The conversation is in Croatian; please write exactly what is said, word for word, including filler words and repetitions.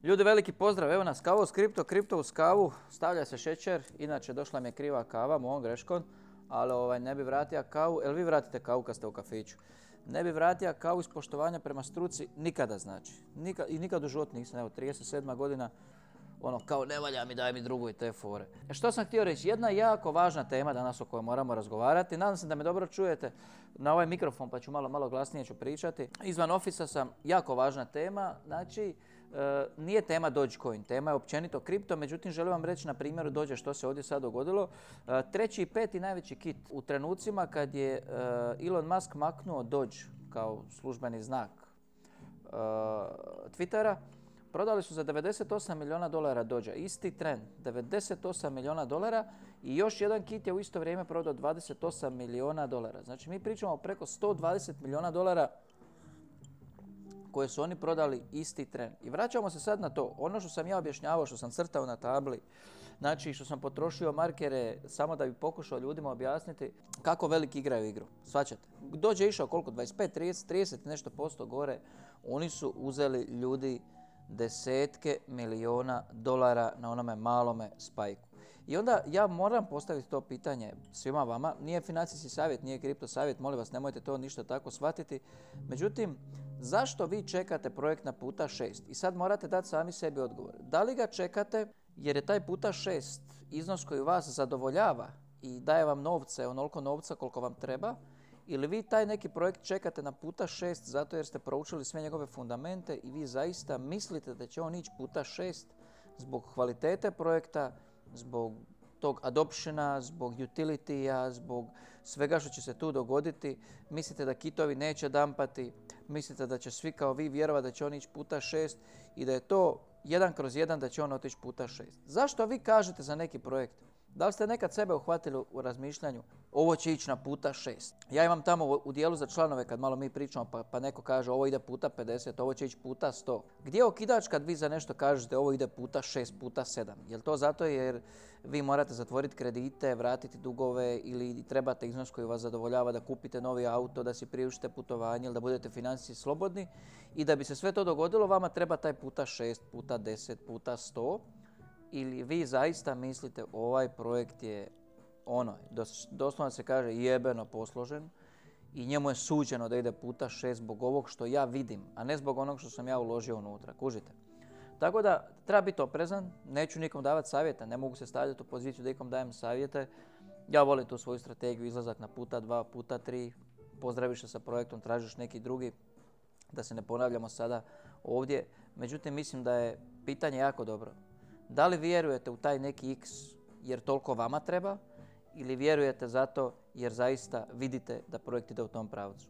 Ljudi, veliki pozdrav, evo nas kavo uz kripto, kripto uz kavu, stavlja se šećer, inače došla mi je kriva kava, mojom greškom, ali ovaj, ne bi vratio kavu, jel vi vratite kavu kad ste u kafiću? Ne bi vratio kavu iz poštovanja prema struci nikada znači, Nika, i nikad u životu nisam, evo trideset sedma godina, ono kao ne valja mi, daj mi drugu i te fore. E što sam htio reći, jedna jako važna tema danas o kojoj moramo razgovarati, nadam se da me dobro čujete na ovaj mikrofon pa ću malo, malo glasnije ću pričati. Izvan ofisa sam, jako važna tema, znači e, nije tema Dogecoin, tema je općenito kripto, međutim želim vam reći na primjeru Doge što se ovdje sad dogodilo. E, treći i peti najveći kit u trenucima kad je e, Elon Musk maknuo Doge kao službeni znak e, Twittera, prodali su za devedeset osam milijuna dolara Dođa, isti trend, devedeset osam milijuna dolara i još jedan kit je u isto vrijeme prodao dvadeset osam milijuna dolara. Znači mi pričamo o preko sto dvadeset milijuna dolara koje su oni prodali isti tren. I vraćamo se sad na to, ono što sam ja objašnjavao, što sam crtao na tabli, znači što sam potrošio markere samo da bi pokušao ljudima objasniti kako veliki igraju igru. Svaćate, Dođe je išao koliko, dvadeset pet, trideset, trideset nešto posto gore, oni su uzeli ljudi desetke milijuna dolara na onome malome spajku. I onda ja moram postaviti to pitanje svima vama, nije financijski savjet, nije kripto savjet, molim vas nemojte to ništa tako shvatiti. Međutim, zašto vi čekate projekt na puta šest? I sad morate dati sami sebi odgovor. Da li ga čekate jer je taj puta šest iznos koji vas zadovoljava i daje vam novce, onoliko novca koliko vam treba, ili vi taj neki projekt čekate na puta šest zato jer ste proučili sve njegove fundamente i vi zaista mislite da će on ići puta šest zbog kvalitete projekta, zbog tog adoptiona, zbog utility-a, zbog svega što će se tu dogoditi. Mislite da kitovi neće dampati, mislite da će svi kao vi vjerovati da će on ići puta šest i da je to jedan kroz jedan da će on otići puta šest. Zašto vi kažete za neki projekt? Da li ste nekad sebe uhvatili u razmišljanju ovo će ići na puta šest? Ja imam tamo u dijelu za članove kad malo mi pričamo pa, pa neko kaže ovo ide puta pedeset, ovo će ići puta sto. Gdje je okidač kad vi za nešto kažete ovo ide puta šest, puta sedam? Je li to zato jer vi morate zatvoriti kredite, vratiti dugove ili trebate iznos koji vas zadovoljava da kupite novi auto, da si priuštite putovanje ili da budete financijski slobodni i da bi se sve to dogodilo vama treba taj puta šest, puta deset, puta sto? Ili vi zaista mislite ovaj projekt je ono, dos, doslovno se kaže jebeno posložen i njemu je suđeno da ide puta šest zbog ovog što ja vidim, a ne zbog onog što sam ja uložio unutra, kužite. Tako da treba biti oprezan, neću nikom davati savjeta, ne mogu se stavljati u poziciju da nikom dajem savjete. Ja volim tu svoju strategiju, izlazak na puta dva, puta tri, pozdraviš se sa projektom, tražiš neki drugi, da se ne ponavljamo sada ovdje. Međutim, mislim da je pitanje jako dobro. Da li vjerujete u taj neki X jer toliko vama treba ili vjerujete zato jer zaista vidite da projekt ide u tom pravcu?